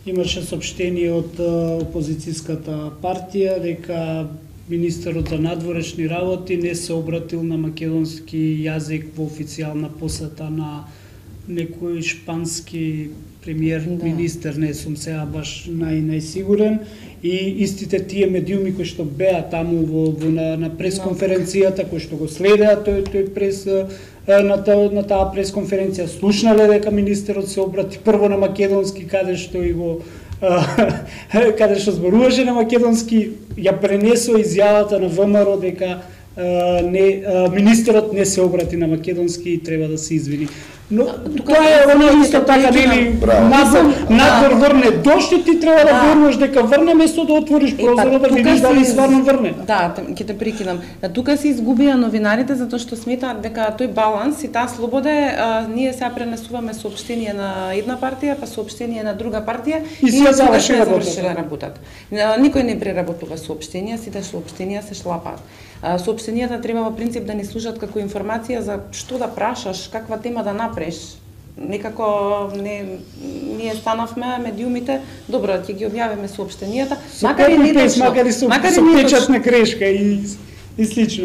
имаше соопштение од опозицијската партија дека министерот за надворешни работи не се обратил на македонски јазик во официјална посета на некој шпански премиер, министер, не сум сега баш најсигурен, и истите тие медиуми кои што беа таму на пресконференцијата, кои што го следеа тој прес на таа пресконференција, слушнале дека министерот се обрати прво на македонски, каде што зборуваше на македонски, ја пренесо изјавата на ВМРО дека министерот не се обрати на македонски и треба да се извини. Но тоа е оно исто така, нели, надвор врне дошти, ти треба да веруваш дека врне, место да отвориш прозорот да видиш дали стварно врне. Да, ќе те прекинам. Тука се изгубија новинарите затоа што сметаат дека тој баланс и таа слобода ние сега пренесуваме соопштение на една партија, па соопштение на друга партија и се завршила работата. Никој не преработува соопштенија, сите соопштенија се шлапаат. Соопштенијата треба во принцип да ни служат како информација за што да прашаш, каква тема да направиш. Некако ние станавме медиумите, добро, ќе ги објавиме соопштенијата, макар и со печатна грешка и слично.